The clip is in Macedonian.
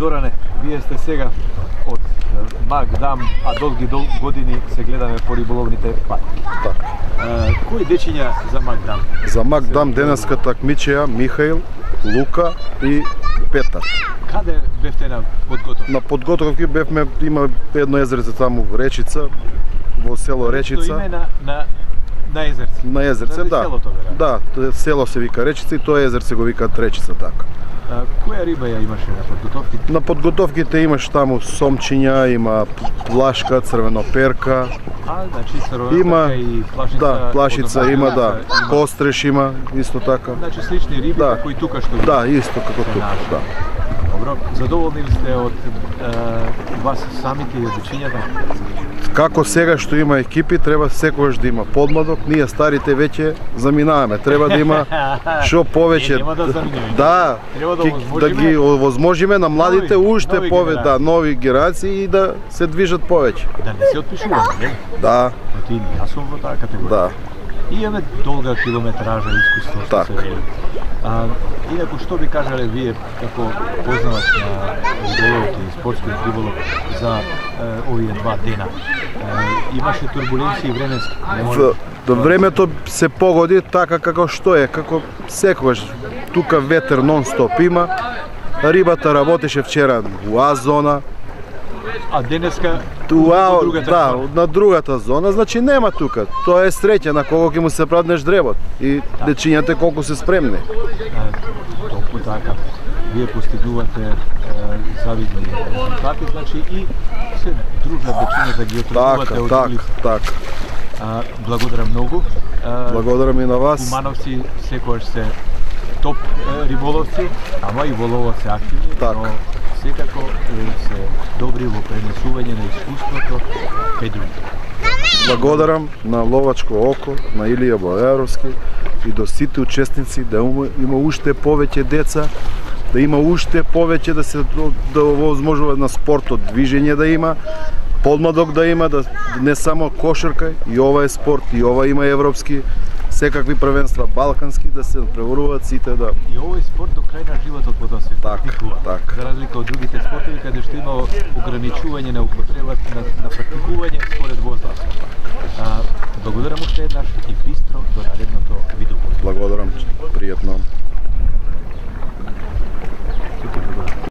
Зоране, вие сте сега од Магдам, а долги години се гледаме по риболовните патки. Кои дечиња за Магдам? За Магдам денеска такмичеа Михаил, Лука и Петар. Каде бевте на подготовки? На подготовки бевме, има едно езерце таму во Речица, во село Речица. Тоа име на езерце? На езерце, да. Да, село се вика Речица и тоа езерце го викаат Речица, така. Која риба ја имаше на подготовките? На подготовките имаш таму сомчиња, има плашка, црвеноперка. Значи црвеноперка и плашица. Да, плашица има, да. Постреш има, исто така. Значи слични риби како и тука што. Да, исто како тука, да. Добро, задоволни ли сте од вас самите и од дечињата? Како сега што има екипи, треба секогаш да има подмладок, ние старите веќе заминаваме. Треба да има што повеќе. Нема да заминуваме. Да, да ги овозможиме на младите уште повеќе, да, нови генерации и да се движат повеќе. Да не се отпишуваме, не? Да. Ти јас сум во таа категорија. Да. И имаме долга километража искуство што се вели. Инаку што би кажале вие како познавач на риболовот и спортскиот риболов за овие два дена? Имаше турбуленции временски? Времето се погоди така како што е, како секогаш. Тука ветер нон-стоп има. Рибата работеше вчера во А зона. А денеска на другата зона, значи нема тука. Тоа е среќа на кого ќе му се праднеш дребот и дечињата колку се спремни. Толку така. Вие постигнувате завидни резултати, значи и се дружат дечињата ги отргувате од другите. Така. Благодарам многу. Благодарам и на вас. Кумановци секогаш се топ риболовци, ама и во ловот се активни, но секако се добри во пренесување на искуството кај други. Благодарам на Ловачко око, на Илија Бојаровски и до сите учесници да има уште повеќе деца, да има уште повеќе да се овозможува на спортот движење да има, подмладок да има, да не само кошарка, и ова е спорт, и ова има европски, секакви првенства балкански да се преваруваат сите да. И овој спорт до крај на животот во тоа се практикува. За разлика од другите спортови каде што има ограничување на употребата на практикување според возраст. Благодарам уште еднаш и бистро до наредното видео. Благодарам, пријатно.